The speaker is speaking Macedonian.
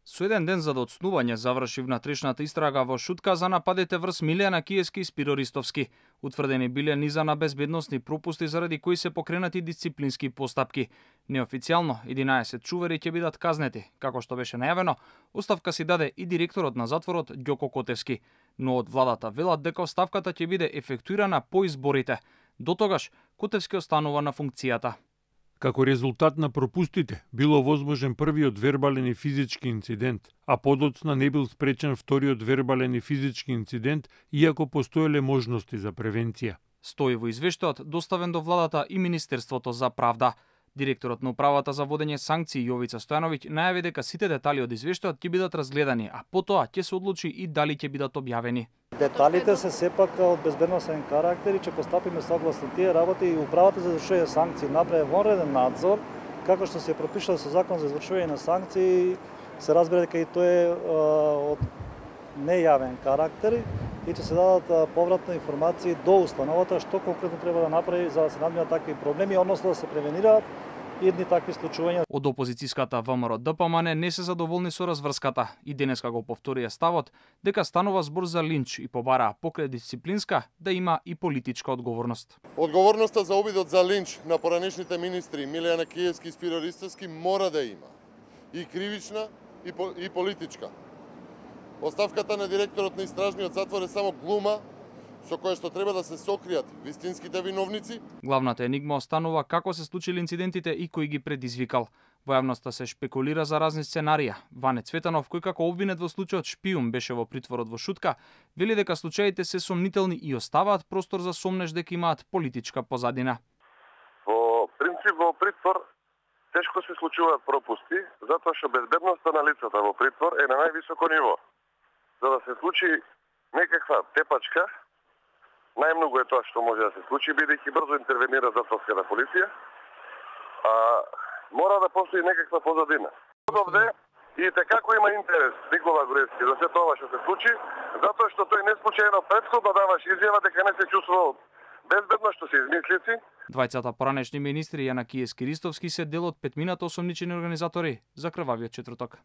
Со еден ден за доцнување заврши внатрешната истрага во Шутка за нападите врз Милијана Киевски и Спиро Ристовски. Утврдени биле низа на безбедносни пропусти заради кои се покренати дисциплински постапки. Неофицијално 11 чувери ќе бидат казнети, како што беше најавено. Оставка си даде и директорот на затворот Ѓоко Котевски, но од владата велат дека оставката ќе биде ефектуирана по изборите. До тогаш Котевски останува на функцијата. Како резултат на пропустите, било возможен првиот вербален и физички инцидент, а подоцна не бил спречен вториот вербален и физички инцидент, иако постоеле можности за превенција. Стои во извештајот доставен до владата и Министерството за правда. Директорот на управата за водење санкции Јовица Стојановиќ најави дека сите детали од извештајот ќе бидат разгледани, а потоа ќе се одлучи и дали ќе бидат објавени. Деталите се сепак од безбедносен карактер и ќе постапиме согласно тие работи и управата за извршување санкции направи вонреден надзор, како што се пропишува со закон за извршување на санкции, се разбира дека и тоа е од нејавен карактер и ќе се дадат повратни информации до установата што конкретно треба да направи за да се надминат такви проблеми, односно да се превенираат едни такви случувања. Од опозицијската ВМРО ДПМН не се задоволни со разврската и денеска го повторија ставот дека станува збор за линч и побараа покрај дисциплинска да има и политичка одговорност. Одговорноста за обидот за линч на поранешните министри Милијана Киевски и Спиро Ристовски мора да има и кривична и политичка. Оставката на директорот на истражниот затвор е само глума со која што треба да се сокријат вистинските виновници. Главната енигма останува како се случили инцидентите и кој ги предизвикал. Во јавноста се шпекулира за разни сценарија. Ване Цветанов, кој како обвинет во случајот шпиун беше во притворот во Шутка, вели дека случаите се сомнителни и оставаат простор за сомнеш дека имаат политичка позадина. Во принцип во притвор тешко се случуваат пропусти, затоа што безбедноста на лицата во притвор е на највисоко ниво. За да се случи некаква тепачка, најмногу е тоа што може да се случи, бидејќи брзо интервенира затворската полиција, а мора да постои некаква позадина. Овде и како има интерес Никола Груевски за се тоа што се случи, затоа што тој не случајно претходно даваше изјава дека не се чувствувал безбедно, што се измислици. Двајцата поранешни министри Јана Киевски и Ристовски се дел од петмината осомничени организатори за крвавиот четврток.